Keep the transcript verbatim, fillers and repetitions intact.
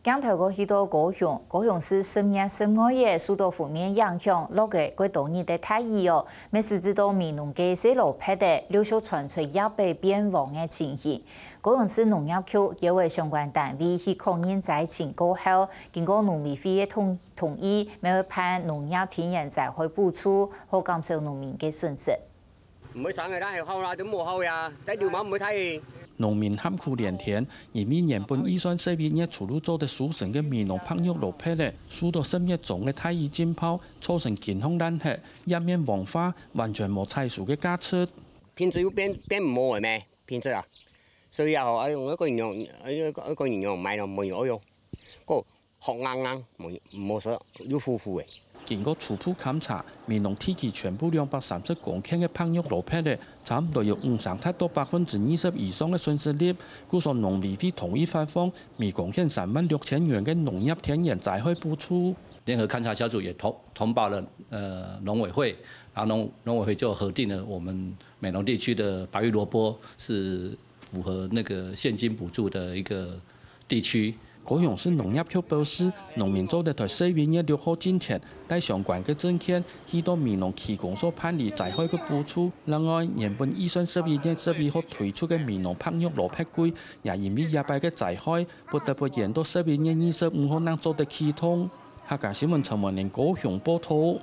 鏡頭過去到高雄，高雄市十月十二日受到鋒面影響，落个過多日个大雨哦，乜使得到美濃个細蘿蔔仔陸續傳出葉白變黃个情形。高雄市農業局邀請相關單位去確認災情過後，經過農委會个同同意，乜會辦農業天然災害補助，好減少農民个損失。 毋會生个，但係好啦，都無好呀，但流氓毋會太。農民喊苦連天，因為原本預算十一月初就做得收成个美濃白玉蘿蔔仔，受到十月中个大雨浸泡，造成根項爛忒，葉面黃化，完全無採收个價值。品質又變變無个咩？品質啊，所以啊，哎喲，愛个人用，愛个人用買咯，無用，哎喲，个 殼硬硬，無無食，又苦苦个。經過初步勘查，美濃地區全部兩百三十公頃个白玉蘿蔔仔，差毋多有五成達到百分之二十以上个損失率，故所農委會同意發放每公頃三萬六千元个農業天然災害補助。聯合勘查小組也通通報了呃農委會，然後農農委會就核定了我們美濃地區的白玉蘿蔔是符合那個現金補助的一個地區。高雄市農業局表示，農民做得在十一月六號進前，帶相關个證件去到美濃區公所辦理災害个補助。另外，原本預算十一月十一號推出个美濃白玉蘿蔔季，也因為這擺个災害，不得不延到十一月二十五號正做得啟動。客家新聞陳文玲高雄報導。